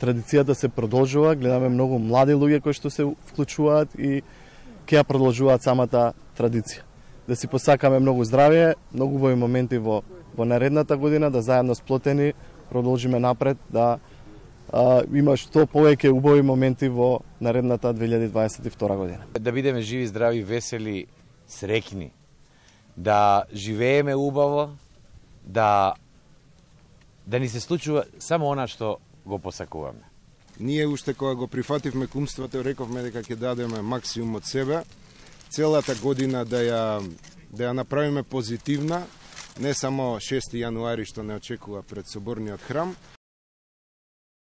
традицијата се продолжува, гледаме многу млади луѓе кои што се вклучуваат и ќе ја продолжуваат самата традиција. Да си посакаме многу здравје, многу убави моменти во наредната година, да заедно сплотени продолжиме напред, да има што повеќе убави моменти во наредната 2022 година. Да бидеме живи, здрави, весели, среќни, да живееме убаво, да ни се случува само она што го посакуваме. Ние уште кога го прифативме кумството, рековме дека ќе дадеме максимум од себе, целата година да ја направиме позитивна, не само 6 јануари што не очекува пред Соборниот храм,